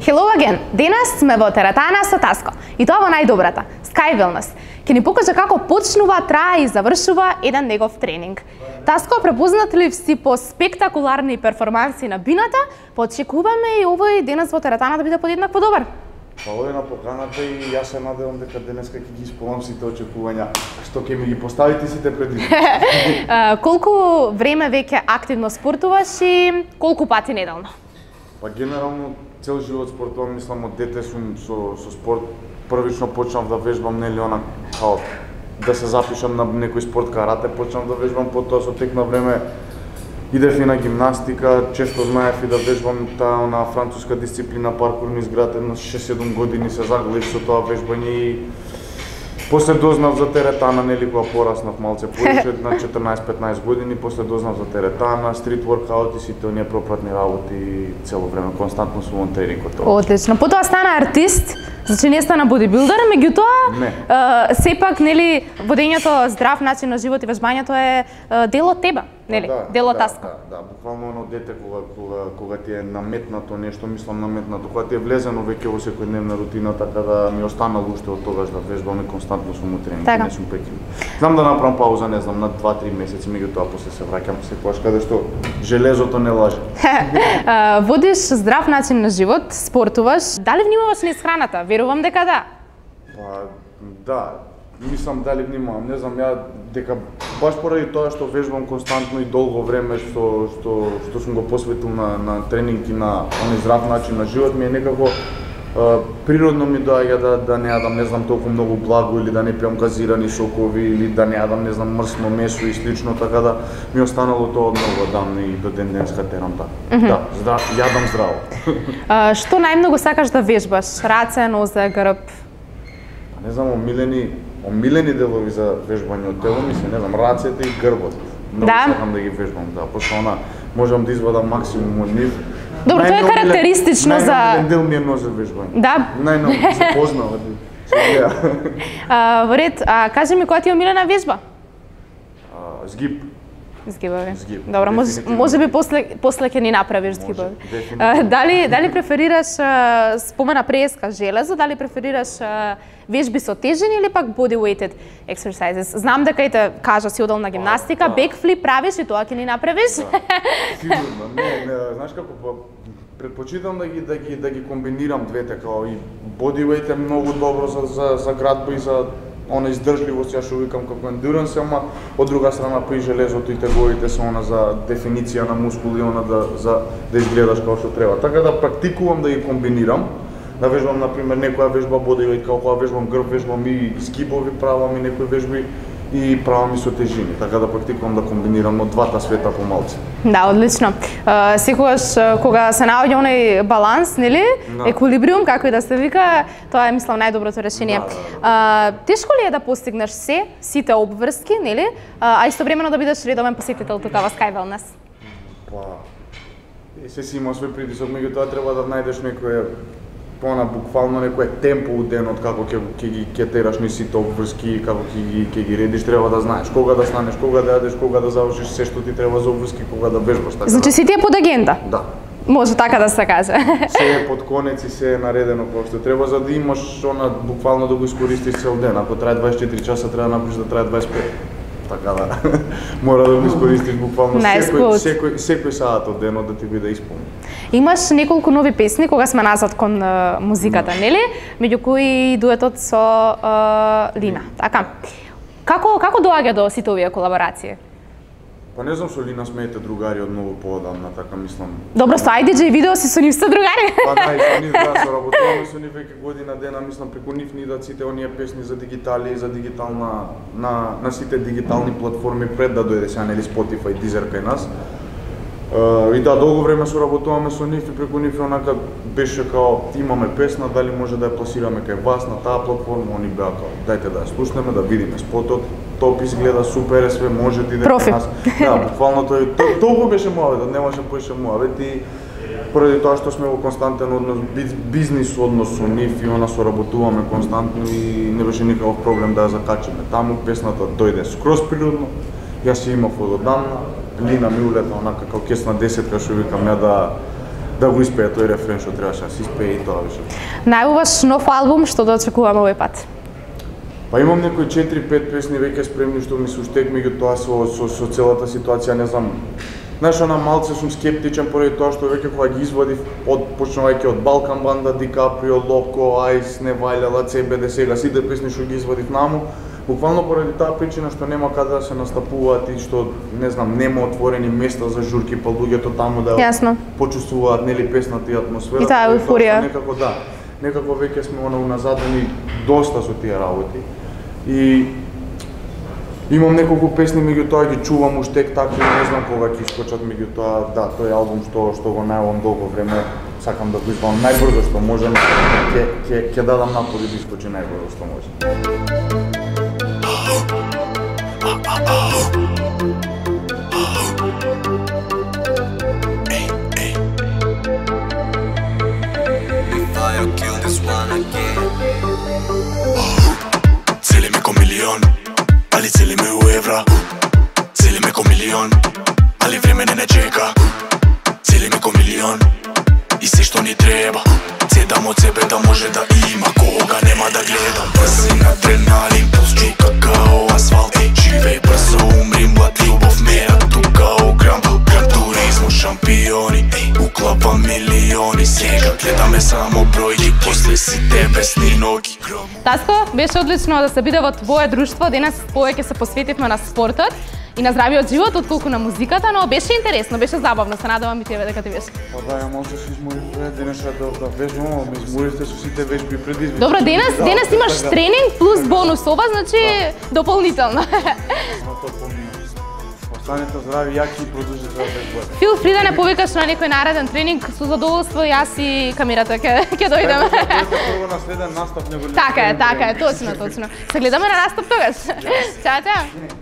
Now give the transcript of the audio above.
Hello again! Денес сме во теретана со Таско. И тоа во најдобрата, Sky Wellness. Ќе ни покаже како почнува, трае и завршува еден негов тренинг. Таско, препознат ли си по спектакуларни перформанси на бината, очекуваме и овој денес во теретана да биде подеднакво добар. Фала на поканата и јас се надевам дека денеска ќе ги исполнам сите очекувања што ќе ми ги поставите сите предизвици. Колку време веќе активно спортуваш и колку пати неделно? Па генерално цел живот спортувам, мислам од дете сум со спорт. Првично почнав да вежбам, нели као да се запишам на некој спорт карате, почнав да вежбам, потоа со тек на време идев и на гимнастика, често знаев и да вежбам таа француска дисциплина паркур низ град, едно 6-7 години се заглавив со тоа вежбање и после дознав за теретана, нели кога пораснав малце повеќе на 14-15 години, после дознав за теретана, стрит воркаут и сите оние пропратни работи цело време, константно сум во тренингот. Одлично. Потоа стана артист, значи не стана бодибилдер, меѓутоа сепак нели водењето здрав начин на живот и вежбањето е дел од тебе, нели? Дел од Таско. Да, буквално едно дете кога ти е наметнато нешто, мислам наметнато, кога ти е влезено веќе во секојдневна рутина, така да ми останало уште од тогаш да вежбам и константно сум во тренинг, не сум прекинал. Знам да направам пауза, не знам, на 2-3 месеци, меѓутоа после се враќам секогаш каде што железото не лаже. Водиш здрав начин на живот, спортуваш, дали внимаваш низ храната? Верувам дека да. Па да, мислам дали внимавам, не знам, ја дека баш поради тоа што вежбам константно и долго време што сум го посветил на тренинг и на оној здрав начин на живот, ми е некако природно ми доаѓа да не јадам, не знам, толку многу благо или да не пијам газирани сокови или да не јадам, не знам, мрсно месо и слично, така да ми останало тоа од многу дам и до ден денеска терам така. Да, јадам здраво. Што најмногу сакаш да вежбаш? Раце, нозе, грб? Не знам, омилени делови за вежбање од тело ми се, не знам, рацете и грбот. Многу сакам да ги вежбам, да, пошто можам да извадам максимум од нив. Добро, тоа е карактеристично за... Најмилен дел ми е нозе вежбање. Да? Најмилен се познава. Во ред, кажи ми која ти е омилена вежба? Згиб. Згибови. Добро, можеби после ќе ни направиш згибови. Дали преферираш, спомена преска железо, дали преферираш вежби со тежини или пак body weighted exercises? Знам дека и те кажа си одел на гимнастика, бекфлип правиш и тоа ќе ни направиш? Сигурно, не, знаеш како, предпочитам да ги комбинирам двете, као и body weight е многу добро за градба и за она издржливост, ја што викам како endurance, ама од друга страна па и железото и теговите се она за дефиниција на мускули, она да изгледаш како што треба. Така да практикувам да ги комбинирам, да вежбам например некоја вежба бодивејт, како кога вежбам грб, вежбам и скибови, правам и некои вежби и правам и со тежини, така да практикувам да комбинирам од двата света помалку. Да, одлично. Секогаш кога се наоѓа оној баланс, нели? Еквилибриум, како и да се вика, тоа е мислам најдоброто решение. Тешко ли е да постигнеш сите обврски, нели? А истовремено да бидеш редовен посетител тука во Sky Wellness? Па, се си има свој притисок, меѓутоа треба да најдеш некој буквално некој темпо у денот како ќе тераш низ сите обврски, како ќе ги редиш, треба да знаеш кога да станеш, кога да јадеш, кога да завршиш се што ти треба за обврски, кога да вежбаш, така. Значи си ти е под агенда? Да. Може така да се каже. Се е под конец и се е наредено како што треба за да имаш буквално да го искористиш цел ден. Ако трае 24 часа, треба да направиш да трае 25. Така да мора да го искористиш буквално секој саат од денот да ти биде исполнен. Имаш неколку нови песни кога сме назад кон музиката, нели? Меѓу кои дуетот со Лина. Така. Како доаѓа до сите овие колаборации? Па не знам, со Лина сме другари од многу поодамна, така мислам. Добро, со IDJ видео си со нив сте другари. Па да, и со нив да, соработуваме со нив веќе година дена, мислам преку нив ни идат сите оние песни за дигитали, за дигитална на сите дигитални платформи пред да дојде сега нели Spotify, Deezer кај нас. И да, долго време соработуваме со нив и преку нив онака беше као имаме песна, дали може да ја пласираме кај вас на таа платформа, они беа као дајте да ја слушнеме, да видиме спотот, топ изгледа, супер е све, може да иде кај нас. Да, буквално толку беше муаветот, немаше поише муавет и поради тоа што сме во константен однос, бизнис однос со нив и она соработуваме константно и не беше никаков проблем да ја закачиме. Таму песната дојде скроз природно, јас си имав од одамна, Лина ми улета онака како кесна десетка, што викам ја да го испее тој рефрен што требаше да се испее и тоа беше. Најуваш нов албум што да очекуваме овој пат? Па имам некои 4-5 песни веќе спремни што ми се уштек, меѓутоа со целата ситуација не знам. Знаеш, она малце сум скептичен поради тоа што веќе кога ги извадив почнувајќи од Балкан Банда, Ди Каприо, Локо, Айс, Невајлела, ЦБД, сега сите песни што ги извадив наму, буквално поради таа причина што нема каде да се настапуваат и што не знам, нема отворени места за журки, па луѓето таму да почувствуваат нели песната и атмосферата. И таа еуфорија. Некако да, некако веќе сме уназадени доста со тие работи. И имам неколку песни, меѓутоа ги чувам уштек така и не знам кога ќе искочат, меѓутоа да, тој албум што го најавам долго време, сакам да го извадам најбрзо што можам, ќе дадам напори да искочи најбрзо што може. Целиме ко милион, али целиме у евра. Целиме ко милион, али време не чека. Целиме ко милион, и се што ни треба. Цедам од себе да може да има кога нема да гледам. Брзин адреналин, пулс чука као асфалт. Живеј брзо, умри млад, љубов мера тука о грам. Грам туризмо, шампиони, уклапа милиони. Сега гледаме само бројки, после сите бесни ноги. Таско, беше одлично да се биде во твое друштво. Денес повеќе се посветивме на спортот и на здравиот живот отколку на музиката, но беше интересно, беше забавно. Се надевам и тебе дека ти беше. Па да, ја може да се изморив денес да вежбам, ме изморивте со сите вежби предизвици. Добро, денес имаш тренинг плюс бонус ова, значи дополнително. Останете здрави, јаки и продолжите да вежбате. Фил фри да не повикаш на некој нареден тренинг, со задоволство јас и камерата ќе дојдеме. Прво на следен настап него. Така е, точно. Се гледаме на настап тогаш. Чао.